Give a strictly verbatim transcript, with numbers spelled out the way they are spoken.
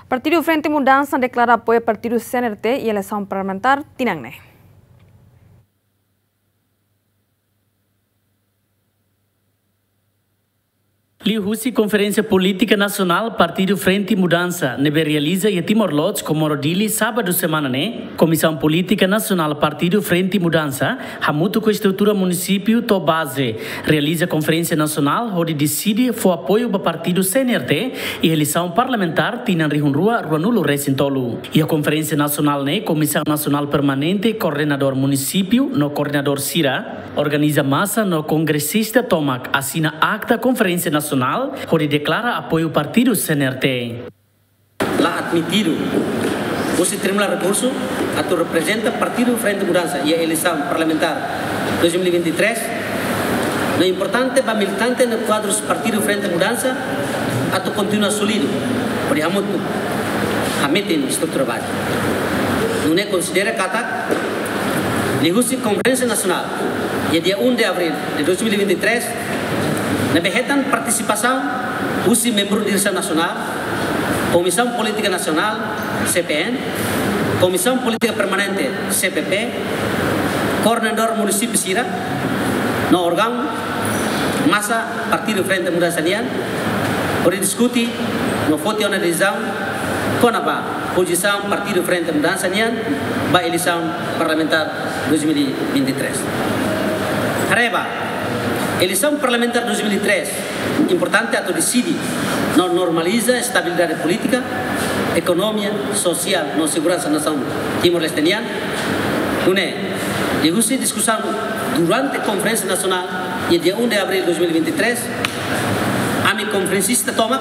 Partidu Frente Mudansa deklara apoiu partidu C N R T iha eleisaun parlamentár tinan ne'e. Liuhusi Konferénsia Polítika Nasionál Partidu Frente Mudansa ne'ebé realiza iha Timor-Leste, Comoro, Dili, sábadu semana ne'e, Komisaun Polítika Nasionál Partidu Frente Mudansa hamutuk ho estrutura munisípiu to'o baze realiza konferénsia nasionál hodi deside fó apoiu ba partidu C N R T iha eleisaun parlamentár tinan rihun rua ruanulu resin tolu. Iha konferénsia nasionál ne'e, Komisaun Nasionál Permanente, koordenadór munisípiu no koordenadór sira, organiza masa no kongresista tomak asina akta konferénsia nasionál hodi deklara apoiu partidu C N R T. La admitidu husi Tribunál Rekursu atu reprezenta Partidu Frente Mudansa iha eleisaun parlamentár dois mil e vinte e três, no importante ba militante no kuadrus Partidu Frente Mudansa atu kontinua solidu hodi hamutuk hametin estrutura baze. Nune'e konsidera katak liuhusi Konferénsia Nasionál iha dia um de abril de dois mil e vinte e três, ne'ebé hetan partisipasaun husi membru diresaun nasionál, Komisaun Polítika Nasionál, C P N, Komisaun Polítika Permanente, C P P, koordenadór munisípiu sira, no órgaun masa Partidu Frente Mudansa nian, hodi diskute no foti ona desizaun kona-ba pozisaun Partidu Frente Mudansa nian ba eleisaun parlamentár dois mil e vinte e três. Haree ba, eleisaun parlamentár dois mil e três importante atu deside no normaliza estabilidade polítika, ekonomia, sosiál no seguransa nasaun Timor-Leste nian. Nune'e, liuhusi diskusaun durante konferénsia nasionál iha dia um de abril dois mil e vinte e três, ami konferensista tomak